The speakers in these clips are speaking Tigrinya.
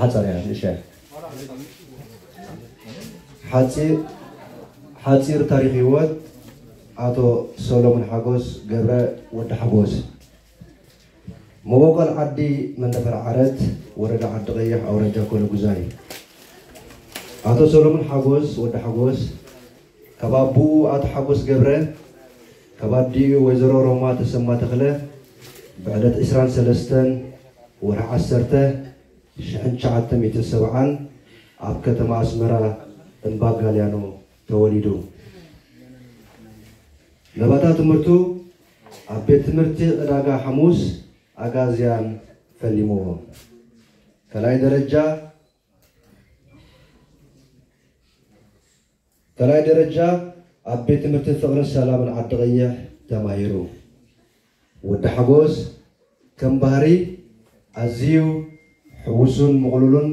ሓጻር እያ፣ ንእሽቶ እያ። ሓጺር፣ ሓጺር ታሪኽ ህይወት ኣቶ ሰሎሞን ሓጎስ ገብረ ወዲ ሓጎስ። መበቆል ዓዲ መንደፈር ዓረት፣ ወረዳ ዓዲ ቀይሕ፣ ኣውራጃ ኮለጉዛይ። ኣቶ ሰሎሞን ሓጎስ ወዲ ሓጎስ ካብ ኣቦኡ ኣቶ ሓጎስ ገብረ፣ ካብ ኣዲኡ ወይዘሮ ሮማ ተሰማ ተኽለ ብዕለት ዕስራን ሰለስተን ወርሒ ዓሰርተ ሽሕን ትሽዓተ ሚእትን ሰብዓን ኣብ ከተማ ኣስመራ እምባ ጋልያኖ ተወሊዱ። ናብታ ትምህርቱ ኣብ ቤት ትምህርቲ ዕዳጋ ሓሙስ ኣጋዝያን ፈሊምዎ። ካልኣይ ደረጃ ካልኣይ ደረጃ ኣብ ቤት ትምህርቲ ፍቕርን ሰላምን ዓዲ ቀይሕ ተማሂሩ። ወዲ ሓጎስ ከም ባህሪ ኣዝዩ ሕውሱን ምቕሉልን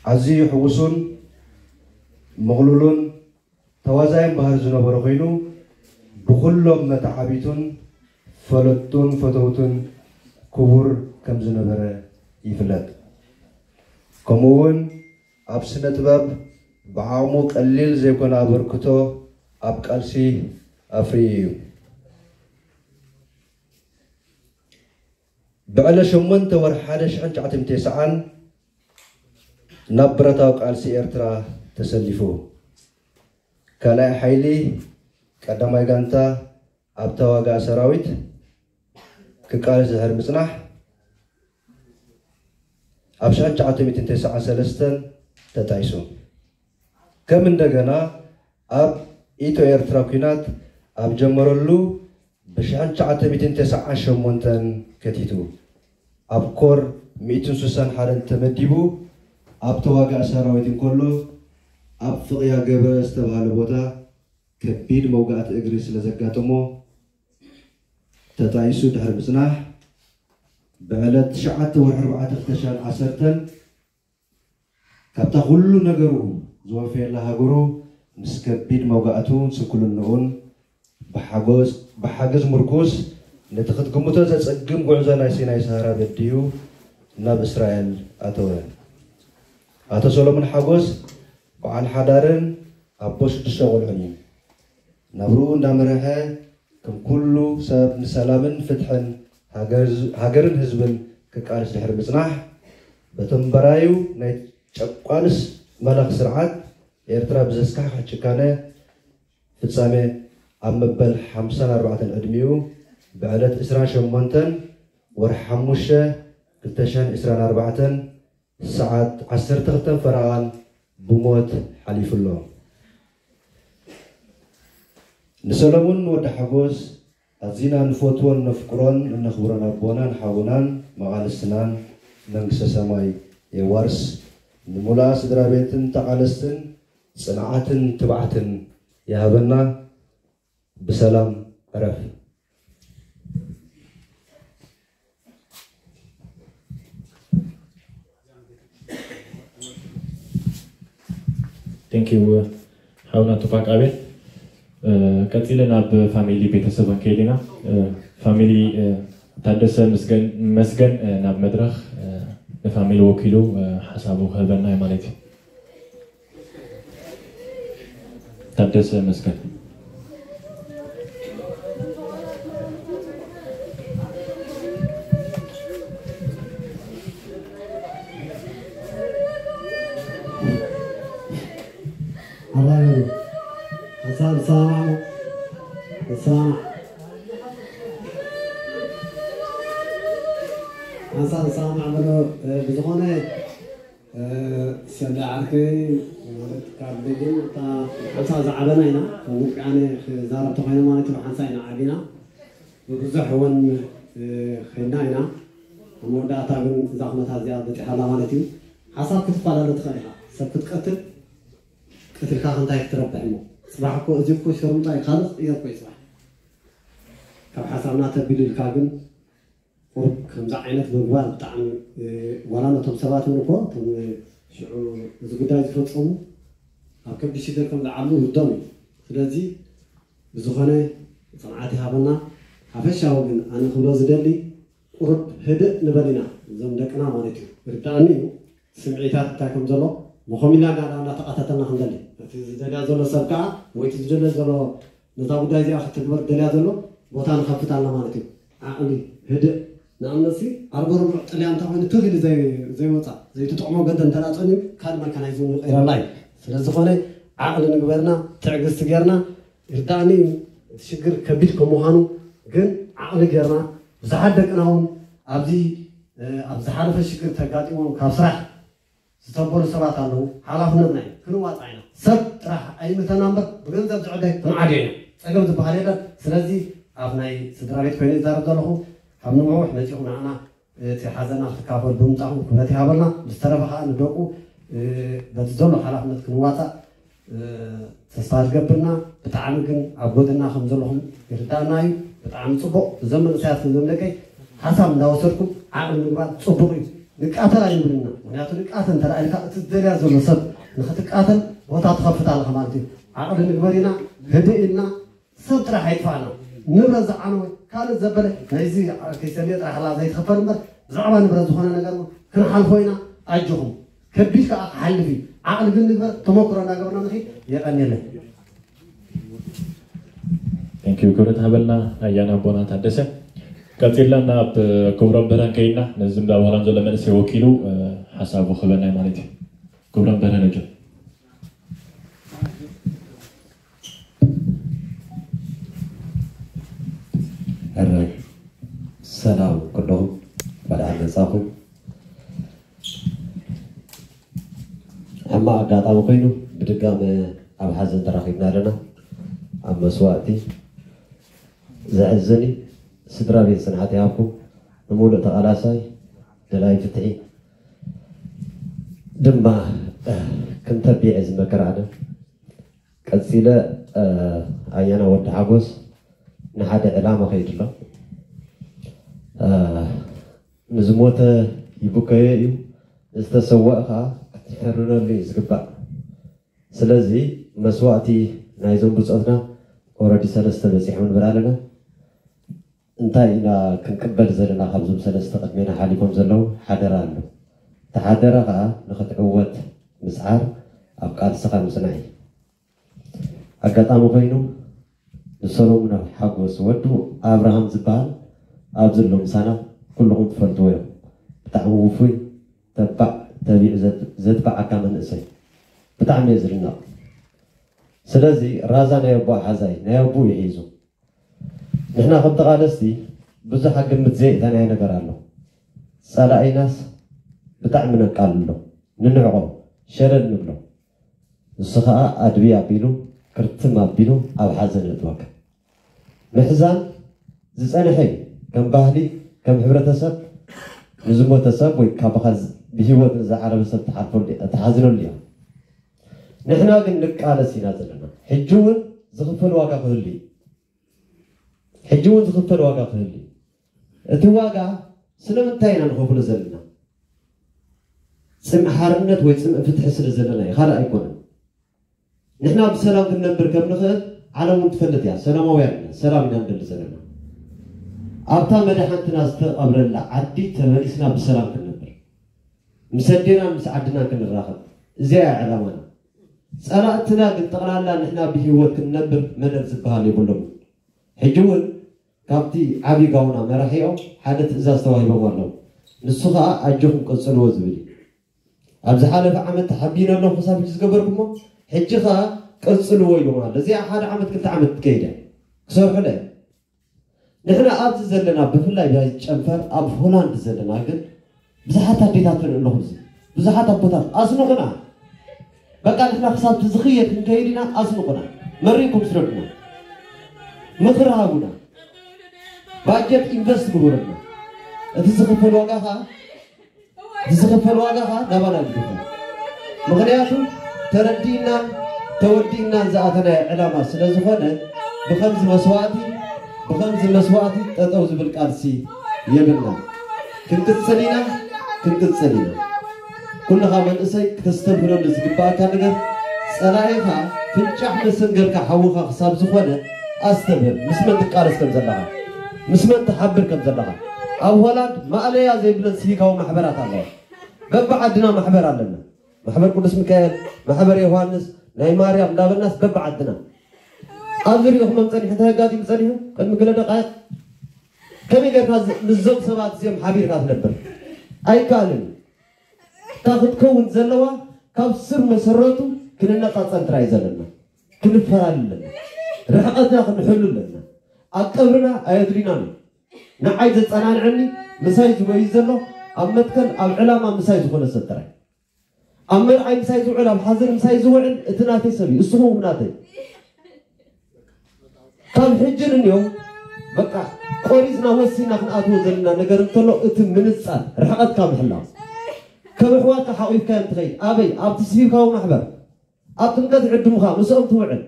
ኣዝዩ ሕውሱን ምቕሉልን ተዋዛይን ባህሪ ዝነበሮ ኮይኑ፣ ብኹሎም መተዓቢቱን ፈለጥቱን ፈተውቱን ክቡር ከም ዝነበረ ይፍለጥ። ከምኡ እውን ኣብ ስነ ጥበብ ብዓቕሙ ቀሊል ዘይኮነ ኣበርክቶ ኣብ ቃልሲ ኣፍርዩ እዩ። ብዕለት ሸሞንተ ወርሒ ሓደ ሽሕን ትሽዓተ ሚእትን ተስዓን ናብ ብረታዊ ቃልሲ ኤርትራ ተሰሊፉ። ካልኣይ ሓይሊ ቀዳማይ ጋንታ ኣብ ተዋጋኢ ሰራዊት ክቃለስ ድሕሪ ምጽናሕ፣ ኣብ ሽሕን ትሽዓተ ሚእትን ተስዓን ሰለስተን ተጣይሱ። ከም እንደገና ኣብ ኢትዮ ኤርትራ ኲናት ኣብ ጀመረሉ ብሽሕን ትሽዓተ ሚእትን ተስዓን ሸሞንተን ከቲቱ። ኣብ ኮር ሚእትን ስሳን ሓደን ተመዲቡ ኣብ ተዋጋኢ ሰራዊት እንከሎ፣ ኣብ ፍቕያ ገበ ዝተባህለ ቦታ ከቢድ መውጋእቲ እግሪ ስለ ዘጋጠሞ፣ ተጣይሱ ድሕሪ ምጽናሕ፣ ብዕለት ትሽዓተ ወርሒ ኣርባዕተ ክልተ ሽሕን ዓሰርተን ካብታ ኩሉ ነገሩ ዝወፈየላ ሃገሩ ምስ ከቢድ መውጋእቱን ስንኩልንኡን ብሓጎስ-፣ ብሓገዝ ምርኩስ ነቲ ክትግምቶ ዘጸግም ጉዕዞ ናይ ሲናይ ሰሃራ በዲሁ ናብ እስራኤል ኣተወ። ኣቶ ሰሎሞን ሓጎስ በዓል ሓዳርን ኣቦ ሽዱሽተ ቆልዑን እዩ። ናብርኡ እንዳመርሐ ከም ኩሉ ሰብ ንሰላምን ፍትሕን ሃገር-፣ ሃገርን ህዝብን ክቃለስ ድሕሪ ምጽናሕ፣ በቶም በራዩ ናይ ጨቋንስ መላኽ ስርዓት ኤርትራ ብዘስካሕክሕ ጭካነ ፍጻሜ ኣብ መበል ሓምሳን ኣርባዕተን ዕድሚኡ ብዕለት ዕስራን ሸሞንተን ወርሒ ሓሙሽተ ክልተ ሽሕን ዕስራን ኣርባዕተን ሰዓት ዓሰርተ ክልተን ፈረቓን ብሞት ሓሊፉ ኣሎ። ንሰለሙን ወዲ ሓጎስ ኣዚና ንፈትዎን ነፍቅሮን እነኽብሮን ኣቦናን ሓውናን መቓልስትናን መንግስተ ሰማይ የዋርስ። ንምሉኣ ስድራ ቤትን ተቓለስትን ጽንዓትን ትብዓትን ይሃበና። ብሰላም ዕረፍ። Thank you ሓውና ቱፓክ ኣቤል። ቀፂለ ናብ ፋሚሊ ቤተሰብ ክንከይድ ኢና። ፋሚሊ ታደሰ መስገን ናብ መድረኽ ንፋሚሊ ወኪሉ ሓሳቡ ክህበና እዩ ማለት እዩ። ታደሰ መስገን። ኣራጋቢ ሓሳብ ዝሰማማዕ ዝሰማማዕ ሓሳብ ዝሰማማዕ ብሎ ብዝኾነ ሰለ ዓርከይ ማለት ካብ ደገን እታ ሓንሳ ዝዓበና ኢና ካብ ውቅያነ ክዛረብ ተኮይነ ማለት እዩ ሓንሳ ኢና ዓቢና ብብዙሕ እውን ከይድና ኢና ኣብ መወዳእታ ግን እዛ ኩነታት እዚኣ በፂሓላ ማለት እዩ ሓሳብ ክትፈላለ ትኽእል ኢኻ ሰብ ክትቀትል ቀትልካ ከንታይ ክትረብሕ እሞ ፅባሕ እኮ እዚ እኮ ሸርሙጣ እዩ ካልእ ቅየር እኮ እዩ ፅባሕ ካብ ሓሳብና ተቢሉ ኢልካ ግን ቁሩብ ከምዚ ዓይነት ምግባር ብጣዕሚ ዋላ ነቶም ሰባት እውን እኮ እቶም ሽዑ እዚ ጉዳይ ዝፈፀሙ ኣብ ከቢድ ሽግር ከም ዝዓሉ ውርዶም እዩ ስለዚ ብዝኾነ ፅንዓት ይሃበና ሓፈሻዊ ግን ኣነ ክብሎ ዝደሊ ቁሩብ ህድእ ንበል ኢና፣ እዞም ደቅና ማለት እዩ። ርዳእኒ እዩ ስምዒታት እንታይ ከም ዘሎ፣ መኾም ኢልና እንዳ- እንዳተቓታተልና ክንደሊ፣ እቲ ዝደልያ ዘሎ ሰብ ከዓ ወይ እቲ ዝደልዮ ዘሎ ነዛ ጉዳይ እዚኣ ክትግበር ደልያ ዘሎ ቦታ ንኸፍት ኣላ ማለት እዩ። ዓቕሊ፣ ህድእ፣ ንኣብነትሲ ኣርበ ርቡዕ ጥልያን እንተኾይኑ ትኽ ኢሉ ዘይ- ዘይወፃ ዘይትጥቕሞ ገደ እንተ ጸንዩ ካልእ መካናይዝም ይቕይረላ እዩ። ስለዝኾነ ዓቕሊ ንግበርና፣ ትዕግስቲ ጌርና፣ ይርዳእኒ እዩ እቲ ሽግር ከቢድ ከም ምዃኑ፣ ግን ዓቕሊ ጌርና ብዙሓት ደቅና እውን ኣብዚ ኣብ ዝሓለፈ ሽግር ተጋጢሞም ካብ ስራሕ ዝተበሉ ሰባት ኣለዉ። ሓላፍነትና እዩ ክንዋፃ ኢና። ሰብ ጥራሕ ኣይምልከና እምበር ብገንዘብ ዝዕደ ክንዓድዮ ኢና። ፀገም ዝበሃል የለን። ስለዚ ኣብ ናይ ስድራ ቤት ኮይነ ይዛረብ ዘለኹ ካብ ንውሕ መፂኹም ንዓና እቲ ሓዘና ክትካፈሉ ብምምፃኹም ክብረት ይሃበልና። ብዝተረፈ ከዓ ንደቁ በቲ ዘሎ ሓላፍነት ክንዋፃእ ተስፋ ዝገብርና። ብጣዕሚ ግን ኣብ ጎድና ከም ዘለኹም ይርዳእና እዩ። ብጣዕሚ ፅቡቕ። እዞም መንእሰያት እዞም ደቀይ ሓሳብ እንዳወሰድኩም ዓቕሊ ምግባር ፅቡቕ እዩ። ንቃተል ኣይንብልና። ምክንያቱ ንቃተል እንተ ኢልካ እቲ ዝደልያ ዘሎ ሰብ ንክትቃተል ቦታ ትኸፍት ኣለኻ ማለት እዩ። ዓቕሊ ንግበር ኢና፣ ህድእ ኢልና፣ ሰብ ጥራሕ ኣይጥፋእና። ንብረት ዝዓነወ ካልእ ዘበለ ናይዚ ከይሰልየ ጥራሕ ላ ዘይትኸፈል እምበር ብዛዕባ ንብረት ዝኾነ ነገር እውን ክንሓልፎ ኢና። ኣጆኹም። ከቢድ ከዓ ክሓልፍ እዩ። ዓቕሊ ግን ንግበር፣ ተመክሮ እናገበርና ንኺድ። የቐንየለይ። Thank you። ክብረት ሃበልና ኣያና ኣቦና ታደሰ። ቀፂልና ናብ ክብሮም በርሀ ከይድና ነዚ እንዳ ባህላም ዘሎ መንእሰይ ወኪሉ ሓሳቡ ክበና ማለት እዩ። ክብሮም በርሀ ነጆ። ሕራይ ሰላም ኩልኹም፣ እንኳዕ ደሓን መጻኹም። ሕማቕ ኣጋጣሚ ኮይኑ ብድጋመ ኣብ ሓዘን ተራኺብና ኣለና። ኣብ መስዋእቲ ዘሕዝን እዩ። ስድራ ቤት ጽንዓት ይሃብኩም። ንምሉእ ተቓላሳይ ደላይ ፍትሒ ድማ ክንተቢዐ ዝመከር ኣነ። ቀጺለ ኣያና ወዲ ሓጎስ ንሓደ ዕላማ ከይዱ ኣሎ። ንዝሞተ ይብከዮ እዩ፣ ንዝተሰወአ ከዓ ክትሕርነሉ እዩ ዝግባእ። ስለዚ መስዋእቲ ናይዞም ብጾትና ኦረዲ ሰለስተ በጺሖም ንብል ኣለና። እንታይ ኢና ክንቅበል ዘለና ካብዞም ሰለስተ ቅድሜና ሓሊፎም ዘለዉ ሓደራ ኣሎ። እቲ ሓደራ ከዓ ንክትዕወት ምስዓር ኣብ ቃልስኻ ምጽናዕ እዩ። ኣጋጣሚ ኮይኑ ንሰሎሙን ሓጎስ ወዱ ኣብርሃም ዝበሃል ኣብዚ ኣሎ ምሳና ኩልኹም ትፈልጥዎ እዮም። ብጣዕሚ ውፉይ ተባዕ ተቢዑ ዘትባዓካ መንእሰይ ብጣዕሚ እየ ዝድነቕ። ስለዚ ራዛ ናይ ኣቦ ሓዛይ ናይ ኣቦ ይሒዙ ንሕና ከም ተቓለስቲ ብዙሕ ግምት ዘየእተናዮ ነገር ኣሎ። ጸላኢናስ ብጣዕሚ ነቃልሎ፣ ንንዕቆ፣ ሸለል ንብሎ። ንሱ ኸኣ ኣድብይ ኣቢሉ ክርትም ኣቢሉ ኣብ ሓዘን የእትወካ። ምሕዛን ዝጸንሐ እዩ። ከም ባህሊ፣ ከም ሕብረተሰብ ንዝሞተ ሰብ ወይ ካባኻ ብህይወት ንዝዓረበ ሰብ ትሓዝነሉ እያ። ንሕና ግን ንቃለስ ኢና ዘለና። ሕጂ እውን ዝኽፈል ዋጋ ክህሉ እዩ። ሕጂ እውን ዝኽፈል ዋጋ ክህሉ እዩ። እቲ ዋጋ ስለምንታይ ኢና ንኸፍሎ ዘለና? ጽምኢ ሓርነት ወይ ጽምኢ ፍትሒ ስለ ዘለና እዩ፣ ካልእ ኣይኮነን። ንሕና ብሰላም ክንነብር ከም ንኽእል ዓለም እውን ትፈልጥ እያ። ሰላማውያን ኢና፣ ሰላም ኢና ንደሊ ዘለና። ኣብታ መድሓንትና ዝተቐብረላ ዓዲ ተመሊስና ብሰላም ክንነብር፣ ምስ ኣዴናን ምስ ዓድናን ክንራኸብ፣ እዚኣ እያ ዕላማና። ጸላእትና ግን ጠቕላላ ንሕና ብህይወት ክንነብር መደብ ዝበሃል የብሎምን። ሕጂ እውን ካብቲ ዓብዪ ጋውና መራሒኦም ሓደ ትእዛዝ ተዋሂቦም ኣለዉ። ንሱ ኸኣ ኣጆኹም ቀጽልዎ ዝብል እዩ። ኣብ ዝሓለፈ ዓመት ተሓቢነ ኣለኹ ክሳብ ሕጂ ዝገበርኩሞ፣ ሕጂ ኸኣ ቀጽልዎ ኢሎም ኣሎ። እዚኣ ሓደ ዓመት ክልተ ዓመት ትከይድ እያ። ክሰርሑላ እዮም። ንሕና ኣብዚ ዘለና ብፍላይ ናይ ጨንፈር ኣብ ሆላንድ ዘለና ግን ብዙሓት ኣዴታት ንርኢ ኣለኹ። እዚ ብዙሓት ኣቦታት ኣስንቑና። በቃ ንሕና ክሳብ ዝኽየድ ክንከይድ ኢና። ኣስንቑና፣ መሪቕኩም ስረዱና፣ ምኽሪ ሃቡና፣ ባጀት ኢንቨስት ግበሩልና። እቲ ዝኽፈል ዋጋ ኸዓ እቲ ዝኽፈል ዋጋ ኸዓ ናባና እዩ ዝኽፈል። ምኽንያቱ ተረዲእናን ተወዲእናን ዝኣተናዮ ዕላማ ስለ ዝኾነ ብኸምዚ መስዋእቲ ብኸምዚ መስዋእቲ ጠጠው ዝብል ቃልሲ የብልና። ክንቅጽል ኢና፣ ክንቅጽል ኢና። ኩልኻ መንእሰይ ክተስተብህለሉ ዝግባኣካ ነገር ጸላኢኻ ፍንጫሕ መሰንገርካ ሓውኻ ክሳብ ዝኾነ ኣስተብህል። ምስ መን ትቃለስ ከም ዘለኻ፣ ምስ መን ትሓብር ከም ዘለኻ። ኣብ ሆላንድ ማእለያ ዘይብለን ሲቪካዊ ማሕበራት ኣለዋ። በብዓድና ማሕበር ኣለና። ማሕበር ቅዱስ ሚካኤል፣ ማሕበር ዮሃንስ፣ ናይ ማርያም እንዳበልናስ በብዓድና ኣብዚ ሪኢኹሞም ጸኒሑ፣ እንታይ ኣጋጢሙ ጸኒሑ? ቅድሚ ገለ ደቃይቕ ከመይ ጌርካ ዝ- ምስዞም ሰባት እዚኦም ሓቢርካ ትነብር? ኣይከኣልን። እታ ክትከውን ዘለዋ ካብ ስር መሰረቱ ክንነጻጸል ጥራይ እዩ ዘለና። ክንፈላለ ኣለና። ርሕቐትና ክንሕሉ ኣለና። ኣብ ቀብርና ኣየድልዩናን እዩ። ንዓይ ዘጸናንዐኒ ምሳይ ዝበዩ ዘሎ ኣብ መትከል ኣብ ዕላማ ምሳይ ዝኾነ ሰብ ጥራይ። ኣብ መርዓይ ምሳይ ዝውዕል ኣብ ሓዘን ምሳይ ዝውዕል እቲ ናተይ ሰብ እዩ። እስኹም ናተይ ካብ ሕጂ ንንዮም በቃ ቆሪጽና ወሲና ክንኣትዎ ዘለና ነገር እንተሎ እቲ ምንጻር ርሕቐትካ ምሕላው ከም ኣሕዋትካ ሓቑፍካዮም ትኸይድ ኣበይ ኣብቲ ስቪካዊ ማሕበር ኣብ ጥምቀት ዕድሙኻ ምስኦም ትውዕል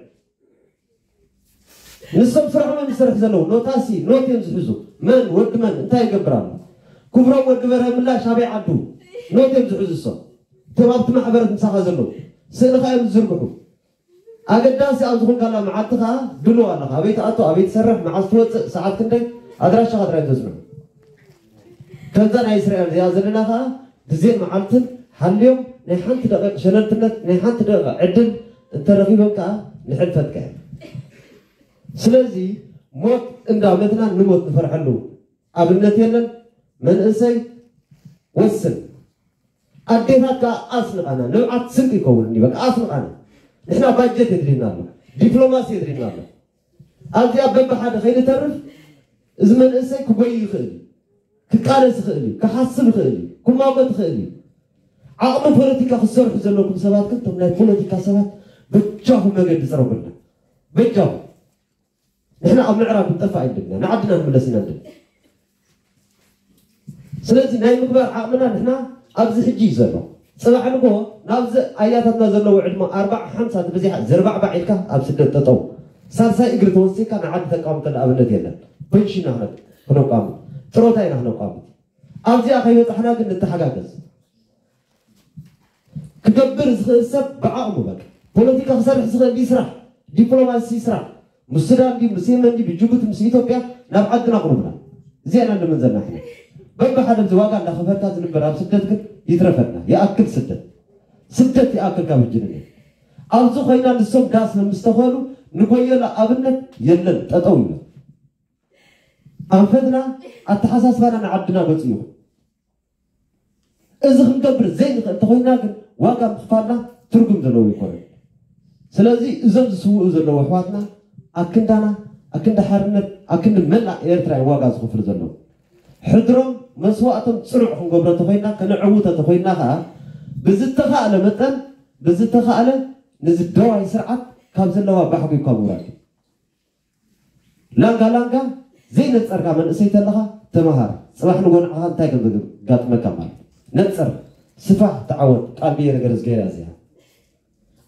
ንሶም ስርሖም እዮም ዝሰርሕ ዘለዉ ኖታሲ ኖት እዮም ዝሕዙ መን ወዲ መን እንታይ ይገብር ኣሎ ክብሮም ወዲ በርሀ ምላሽ ኣበይ ዓዱ ኖት እዮም ዝሕዙ እሶም እቶም ኣብቲ ማሕበረት ምሳኻ ዘለዉ ስእልኻ እዮም ዝዝርግሑ ኣገዳሲ ኣብ ዝኾንካላ መዓልቲ ከዓ ድልው ኣለኻ ኣበይ ትኣቱ ኣበይ ትሰርሕ መዓዝ ትወፅእ ሰዓት ክንደይ ኣድራሻኻ ጥራይ ተፅንሑ ከምዛ ናይ እስራኤል እዚኣ ዘለና ከዓ ግዜን መዓልትን ሓልዮም ናይ ሓንቲ ደቂቕ ሸለልትነት ናይ ሓንቲ ደቂቕ ዕድል እንተረኺቦም ከዓ ንሕልፈት ከ ስለዚ ሞት እንዳመትና ንሞት ንፈርሐሉ ኣብነት የለን መንእሰይ ወስን ኣዴታት ከዓ ኣስንቓና ንብዓት ስንቂ ይኸውን እንዲ በቃ ኣስንቓና ንሕና ባጀት የድልየና ኣሎ ዲፕሎማሲ የድልየና ኣሎ ኣብዚኣ በብሓደ ከይንተርፍ እዚ መንእሰይ ክጎይ ይኽእል እዩ ክቃለስ ይኽእል እዩ ክሓስብ ይኽእል እዩ ክማጎት ይኽእል እዩ ዓቕሚ ፖለቲካ ክትሰርሑ ዘለኩም ሰባት ግን እቶም ናይ ፖለቲካ ሰባት በጃኹም መገዲ ፅረጉልና በጃኹም ንሕና ኣብ ምዕራብ ክንጠፍእ ኣይንደልን ኢና ንዓድና ንምለስ ኢና ንደሊ ስለዚ ናይ ምግባር ዓቕምና ንሕና ኣብዚ ሕጂ እዩ ዘሎ ፅባሕ ንጎ ናብዚ ኣያታትና ዘለዎ ዕድመ ኣርባዓ ሓምሳ ብዚሓ ዘርባዕባዕ ኢልካ ኣብ ስደት ጠጠው ሳልሳይ እግሪ ተወሲካ ንዓዲ ተቃምተሉ ኣብነት የለን ፔንሽን ኢና ክነቋምት ጥሮታ ኢና ክነቋምት ኣብዚኣ ከይበፃሕና ግን ንተሓጋገዝ ክገብር ዝኽእል ሰብ ብዓቕሙ በቃ ፖለቲካ ክሰርሕ ዝኽእል ድዩ ስራሕ ዲፕሎማሲ ስራሕ ምስ ሱዳን ድዩ ምስ የመን ድዩ ብጅቡቲ ምስ ኢትዮጵያ ናብ ዓድና ቅሩብና እዚኣና ንምን ዘለና ሕነ በብሓደ እዚ ዋጋ እንዳኸፈልካ ዝንበር ኣብ ስደት ግን ይትረፈና ይኣክል ስደት ስደት ይኣክል ካብ ህጂ ንነ ኣብዚ ኮይና ንሶም ዳስ ንምስተኸሉ ንጎየላ ኣብነት የለን ጠጠው ይብል ኣንፈትና ኣተሓሳስባና ንዓድና ገፁ ይኹን እዚ ክንገብር ዘይንኽእል እንተኾይና ግን ዋጋ ምኽፋልና ትርጉም ዘለዎ ኣይኮነን። ስለዚ እዞም ዝስውኡ ዘለዉ ኣሕዋትና ኣክንዳና ኣክንዲ ሓርነት ኣክንዲ መላእ ኤርትራ እዮም ዋጋ ዝኸፍሉ ዘለዉ። ሕድሮም መስዋእቶም ፅኑዕ ክንገብሮ እንተኾይና ከነዕውቶ እንተኾይና ከዓ ብዝተኻእለ መጠን ብዝተኻእለ ንዚ ደዋይ ስርዓት ካብ ዘለዋ ባሕጉ እኳ ምውራድ እዩ። ላንጋ ላንጋ ዘይነፀርካ መንእሰይ ተለኻ ተምሃር። ፅባሕ ንጎ ንዓኻ እንታይ ከም ዘጋጥመካ ማለት ነፀር፣ ስፋሕ፣ ተዓወት። ቃል ብየ ነገር ዝገይራ እዚኣ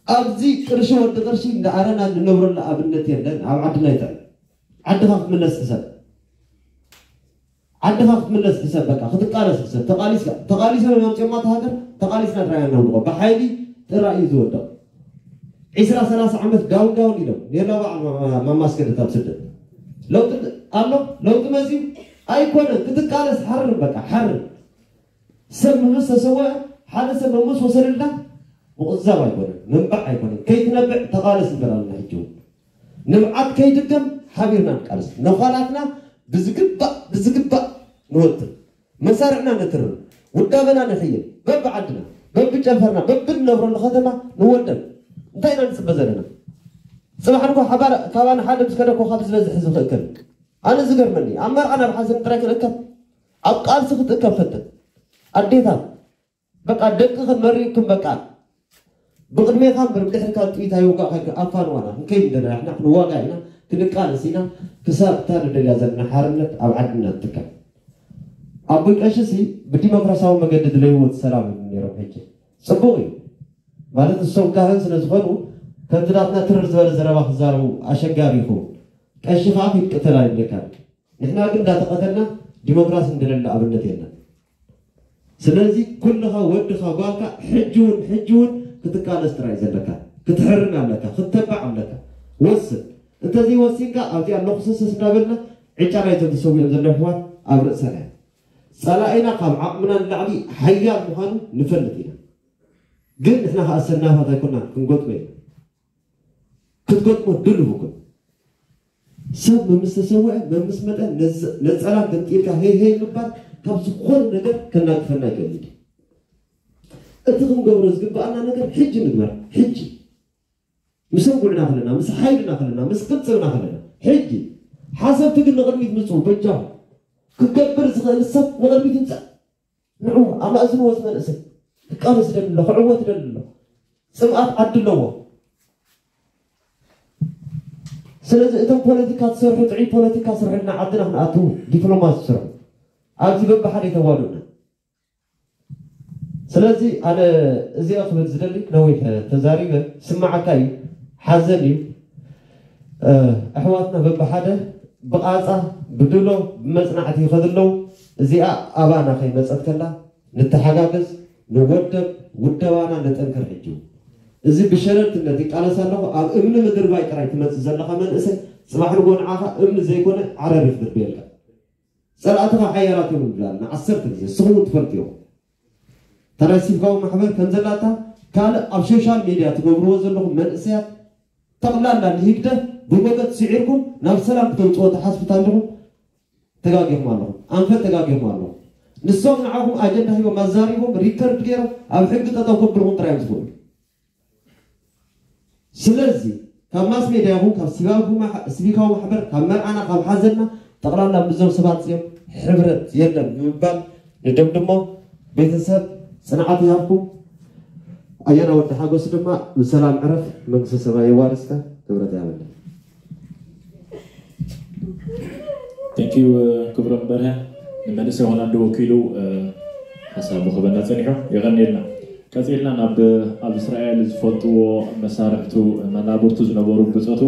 ኣብዚ ቅርሺ ወዲ ቅርሺ እንዳኣረና እንነብረሉ ኣብነት የለን። ኣብ ዓድና ይጥዕም። ዓድኻ ክትምለስ ሕሰብ። ዓድኻ ክትምለስ ሕሰብ። በቃ ክትቃለስ ሕሰብ። ተቃሊስካ ተቃሊሶም እዮም ኣምፅኦማ እታ ሃገር። ተቃሊስና ጥራይ ኢና ነውድቆ። ብሓይሊ ጥራይ እዩ ዝወድቕ። ዒስራ ሰላሳ ዓመት ዳውን ዳውን ኢሎም ኔርና በዓል ማማስገደት ኣብ ስደት ለውጢ ኣሎ። ለውጢ መፅዩ ኣይኮነን ክትቃለስ ሓርር በቃ ሓርር። ሰብ ምምስ ተሰወአ ሓደ ሰብ መምስ ወሰደልና ምቕዛብ ኣይኮነን ምንባዕ ኣይኮነን። ከይትነብዕ ተቃለስ ንበል ኣለና። ሕጂ እውን ንብዓት ከይድገም ሓቢርና ንቃለስ። ነዃላትና ብዝግባእ ብዝግባእ ንወጥር። መሳርዕና ነትርር፣ ውዳበና ነሕይል፣ በብዓድና፣ በብጨንፈርና፣ በብንነብረሉ ከተማ ንወደብ። እንታይ ኢና ንጽበ ዘለና? ጽባሕ ንጎ ሓባር ካባና ሓደ ምስ ከደ እኮ ካብ ዝበዝሕ ህዝቢ ክእከብ። ኣነ ዝገርመኒ ኣብ መርዓ ናብ ሓዘን ጥራይ ክንእከብ፣ ኣብ ቃልሲ ክትእከብ ፈትን። ኣዴታት በቃ ደቅኽን መሪቕክን በቃ ብቕድሜኻ እምበር ብድሕሪካ ጥይት ኣይወጋእካን ኣፋንዋና ክንከይድ እንደና ንሕና ክንዋጋእ ኢና ክንቃለስ ኢና ክሳብ እታ ንደልያ ዘለና ሓርነት ኣብ ዓድና ትትከል። ኣቦይ ቀሺ ሲ ብዲሞክራሲያዊ መገዲ ድለይዎ እቲ ሰላም ይብሉ ነይሮም። ሕጂ ጽቡቕ እዩ ማለት ንሶም ካህን ስለ ዝኾኑ ከምቲ ናትና ትርር ዝበለ ዘረባ ክዛረቡ ኣሸጋሪ ይኸውን። ቀሺ ከዓ ክትቅተል ኣይብለካን። ንሕና ግን እንዳተቐተልና ዲሞክራሲ እንደለለ ኣብነት የለን። ስለዚ ኩልኻ ወድኻ ጓልካ ሕጂ እውን ሕጂ እውን ክትቃለስ ጥራይ ዘለካ ክትሕርን ኣለካ ክተባዕ ኣለካ። ወስን እንተዘይወሲንካ ኣብዚኣ ኣለኹስስስ እንዳበልና ዕጫ ናይዞም ተሰዊኦም ዘለዉ ኣሕዋት ኣብ ርእሰና እያ። ጸላኢና ካብ ዓቕምና ንላዕሊ ሓያል ምዃኑ ንፈልጥ ኢና። ግን ንሕና ከኣ ሰናፋት ኣይኮናን፣ ክንገጥሞ ኢና። ክትገጥሞ ድሉው ኩን። ሰብ መምስ ተሰውዐ፣ መምስ መጠ፣ ነዝ-፣ ነጸላ ገምጢልካ ሄይ ሄይ ምባል ካብ ዝኾነ ነገር ከናግፈና ይገብር። እቲ ክንገብሮ ዝግብኣና ነገር ሕጂ ንግበር። ሕጂ ምስ እንጉዕና ከለና፣ ምስ ሓይልና ከለና፣ ምስ ቅልጽምና ከለና፣ ሕጂ ሓሰብቲ ግን ንቕድሚት ምጽኡ። በጃኹም፣ ክገብር ዝኽእል ሰብ ንቕድሚት ይምጻእ። ንዑ ኣማእዝንዎ፣ እዚ መንእሰይ ክቃለስ ይደሊ ኣሎ፣ ክዕወት ይደሊ ኣሎ። ጽምኣት ዓዲ ኣለዎ። ስለዚ እቶም ፖለቲካ ትሰርሑ፣ ጥዑይ ፖለቲካ ስርሕልና፣ ዓድና ክንኣትዉ፣ ዲፕሎማሲ ስርሑ። ኣብዚ በብሓደ የተዋዱና። ስለዚ ኣነ እዚኣ ክብል ዝደሊ፣ ነዊሕ ተዛሪበ፣ ስማዓካ እዩ፣ ሓዘን እዩ። እ፣ ኣሕዋትና በብሓደ ብቓጻ፣ ብድሎ፣ ብመጽናዕቲ ይኸዱ ኣለዉ። እዚኣ ኣባና ከይመጸት ከላ ንተሓጋገዝ፣ ንወደብ፣ ውደባና ነጠንክር። ሕጂ እዚ ብሸለልትነት ይቃለስ ኣለኹ። ኣብ እምኒ ምድርባይ ጥራይ ትመጽእ ዘለኻ መንእሰይ፣ ጽባሕ ንጎ ንዓኻ እምኒ ዘይኮነ ዓረር እዩ ክድርብየልካ። ጸላእትኻ ሓያላት እዮም ንብላልና ዓሰርተ ግዜ፣ ንስኹም እውን ትፈልጡ ኢኹም። እታ ናይ ሲቪካዊ ማሕበር ከም ዘላታ ካልእ ኣብ ሶሻል ሜድያ ትገብርዎ ዘለኹም መንእሰያት ጠቕላላ ንህግደፍ ብሞገት ስዒርኩም ናብ ሰላም ክተምጽዎ ትሓስቡ እንተለኹም ተጋጊኹም ኣለኹም። ኣንፈት ተጋጊኹም ኣለኹም። ንሶም ንዓኹም ኣጀንዳ ሂቦም ኣዛሪቦም ሪከርድ ገይሮም ኣብ ሕጊ ጠጠው ከብልኹም ጥራይ እዮም ዝኽእሉ። ስለዚ ካብ ማስ ሜድያ ይኹን ካብ ሲቪካዊ ማሕ-፣ ሲቪካዊ ማሕበር ካብ መርዓና ካብ ሓዘንና ጠቕላላ ምስዞም ሰባት እዚኦም ሕብረት የለን ብምባል ንደምድሞ። ቤተሰብ ጽንዓት ይሃብኩም። ኣያና ወዲ ሓጎስ ድማ ብሰላም ዕረፍ፣ መንግስተ ሰማይ የዋርስካ። ክብረት ያበለን። Thank you ክብሮም በርሀ ንመንእሰይ ሆላንድ ወኪሉ ሓሳቡ ክበና ጸኒሑ። የቐንየልና። ቀጺልና ናብ ኣብ እስራኤል ዝፈልጥዎ መሳርሕቱ መናብርቱ ዝነበሩ ብጾቱ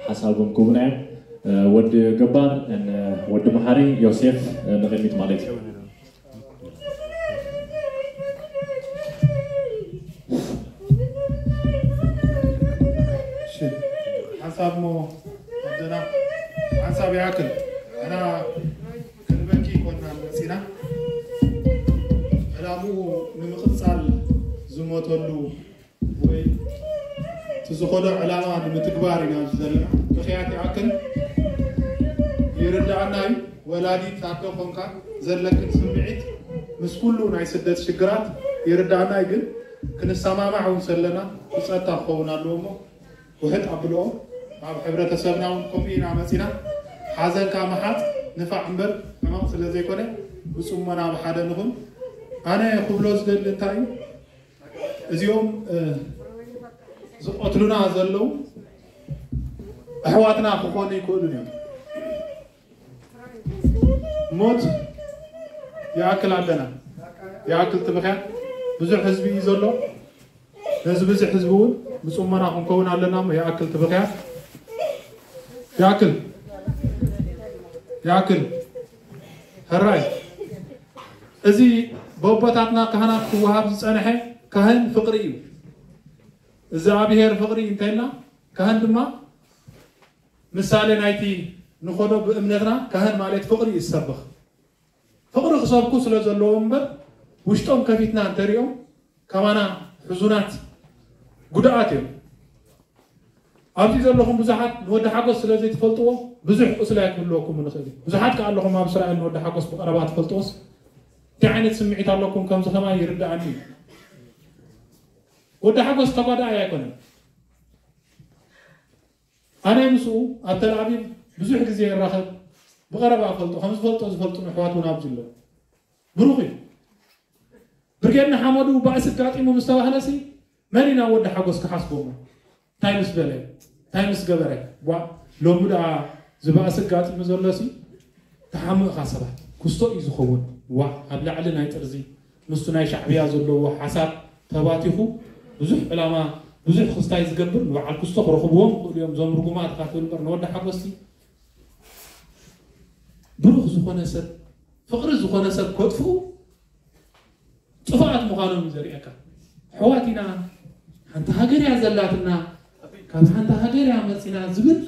ሓሳቦም ክህቡና እዮም። ወዲ ገባር፣ ወዲ መሓሪ፣ ዮሴፍ ንቕድሚት ማለት እዩ። ሓንሳብ ሞ ኣደና ሓንሳብ ይኣክል ኣና ክንበኪ ይኮና መፂና ዕላምኡ ንምቕፃል ዝሞተሉ ወይ እቲ ዝኾዶ ዕላማ ንምትግባር ኢና ዘለና። ምኽንያት ይኣክል ይርዳእና እዩ። ወላዲት ኣዶ ኮንካ ዘለክን ስምዒት ምስ ኩሉ ናይ ስደት ሽግራት ይርዳእና እዩ። ግን ክንሰማማዕ እውን ሰለና ብፀታ ክኸውን ኣለዎ እሞ ውሕጥ ኣብልኦ ኣብ ሕብረተሰብና እውን ከምኡ ኢና መፂና። ሓዘንካ ምሓፅ ንፋዕ እምበር ሕማቕ ስለ ዘይኮነ ብፅሞና ብሓደ ንኹን። ኣነ ክብሎ ዝደሊ እንታይ እዩ እዚኦም ዝቐትሉና ዘለዉ ኣሕዋትና ክኾኑ ይክእሉን እዮም። ሞት ይኣክል ኣለና ይኣክል ትብኽያ ብዙሕ ህዝቢ እዩ ዘሎ። ነዚ ብዙሕ ህዝቢ እውን ብፅሞና ክንከውን ኣለና እሞ ይኣክል ትብኽያ ይኣክል ይኣክል ሕራይ እዚ ብኣቦታትና ካህናት ክወሃብ ዝፀንሐ ካህን ፍቕሪ እዩ። እግዚኣብሔር ፍቕሪ እንተልና ካህን ድማ ምሳሌ ናይቲ ንኾዶ ብእምነትና ካህን ማለት ፍቕሪ እዩ ዝሰብኽ። ፍቕሪ ክሰብኩ ስለ ዘለዎም እምበር ውሽጦም ከፊትና እንተሪኦም ከማና ሕዙናት ጉድኣት እዮም። ኣብዚ ዘለኹም ብዙሓት ንወዲ ሓጎስ ስለ ዘይትፈልጥዎ ብዙሕ ቁስሊ ኣይክህልወኩም ንኽእል እዩ። ብዙሓት ከኣ ኣለኹም ኣብ እስራኤል ንወዲ ሓጎስ ብቐረባ ትፈልጥዎስ እንታይ ዓይነት ስምዒት ኣለኩም ከምዚ ከማይ ይርድኣኒ እዩ። ወዲ ሓጎስ ተጓዳኣይ ኣይኮነን። ኣነ ምስኡ ኣብ ተልኣቪቭ ብዙሕ ግዜ ይራኸብ፣ ብቐረባ እፈልጦ፣ ከም ዝፈልጦ ዝፈልጡ ኣሕዋት እውን ኣብዚ ኣለዉ። ብሩኽ እዩ። ብርጌድ ንሓመዱ ባእሲ ኣጋጢሙ ምስ ተባህለሲ መን ኢና ወዲ ሓጎስ ክሓስቦ እሞ እንታይ ምስ በለ እንታይ ምስ ገበረ ዋ ሎሚ ደኣ ዝባእሲ ኣጋጢሙ ዘሎሲ ተሓምቕኻ ሰባት ክስቶ እዩ ዝኸውን ዋ ኣብ ላዕሊ ናይ ጥርዚ ምስቱ ናይ ሻዕብያ ዘለዎ ሓሳብ ተባቲኹ ብዙሕ ዕላማ ብዙሕ ክስታይ ዝገብር ንበዓል ክስቶ ክረኽብዎም ይኽእሉ እዮም እዞም ርጉማት ኢኻ ትብል እምበር ንወዲ ሓጎስቲ ብሩኽ ዝኾነ ሰብ ፍቕሪ ዝኾነ ሰብ ከጥፍኡ ጥፋኣት ምዃኖም እዩ ዘርእየካ። ኣሕዋት ኢና፣ ሓንቲ ሃገር እያ ዘላትና፣ ካብ ሓንቲ ሃገር እያ መፂና ዝብል